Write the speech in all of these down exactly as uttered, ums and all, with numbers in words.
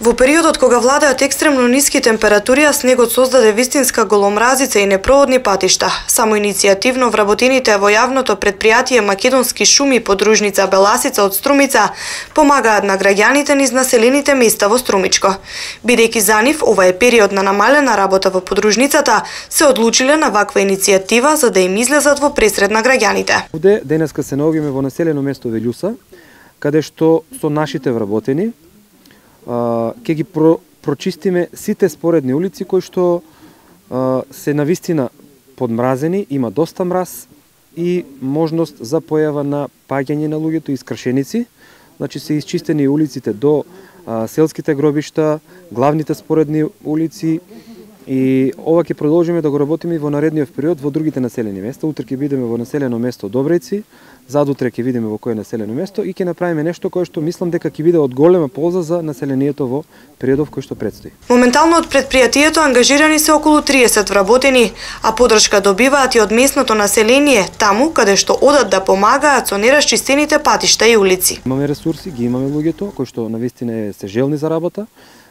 Во периодот кога владеат екстремно ниски температури, а снегот создаде вистинска голомразица и непроходни патишта, само иницијативно вработените во јавното претпријатие Македонски шуми подружница Беласица од Струмица помагаат на граѓаните низ населените места во Струмичко. Бидејќи за нив ова е период на намалена работа во подружницата, се одлучиле на ваква иницијатива за да им излезат во пресред на граѓаните. Овде денеска се наоѓаме во населено место Велјуса, каде што со нашите вработени ќе ги про, прочистиме сите споредни улици кои што а, се навистина подмразени, има доста мраз и можност за појава на паѓање на луѓето и скршеници. Значи се исчистени улиците до а, селските гробишта, главните споредни улици, и ова ќе продолжиме да го работиме во наредниот период во другите населени места. Утре ќе бидеме во населено место Добрејци, задутре ќе видиме во кое населено место и ќе направиме нешто кое што мислам дека ќе биде од голема полза за населението во периодов кој што предстои. Моментално од претпријатието ангажирани се околу триесет вработени, а подршка добиваат и од местното население, таму каде што одат да помагаат со нерасчистените патишта и улици. Имаме ресурси, ги имаме луѓето кои што навистина се желни за работа.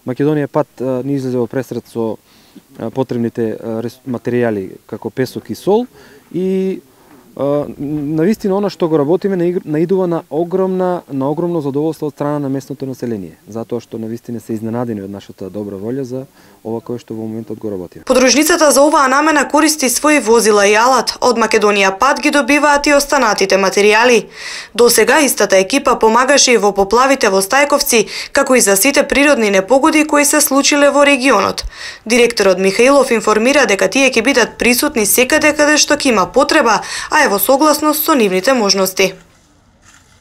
Македонија пат ни излезе во пресред со потребните материјали како песок и сол и навистина она што го работиме наидува на огромна на огромно задоволство од страна на местното население, затоа што навистина се изненадени од нашата добра волја за ова кое што во моментот го работиме. Подружницата за оваа намена користи своји возила и алат, од Македонија пат ги добиваат и останатите материјали. До сега истата екипа помагаше и во поплавите во Стајковци, како и за сите природни непогоди кои се случиле во регионот. Директорот Михаилов информира дека тие ќе бидат присутни секаде каде што ќе има потреба, а е во согласност со нивните можности.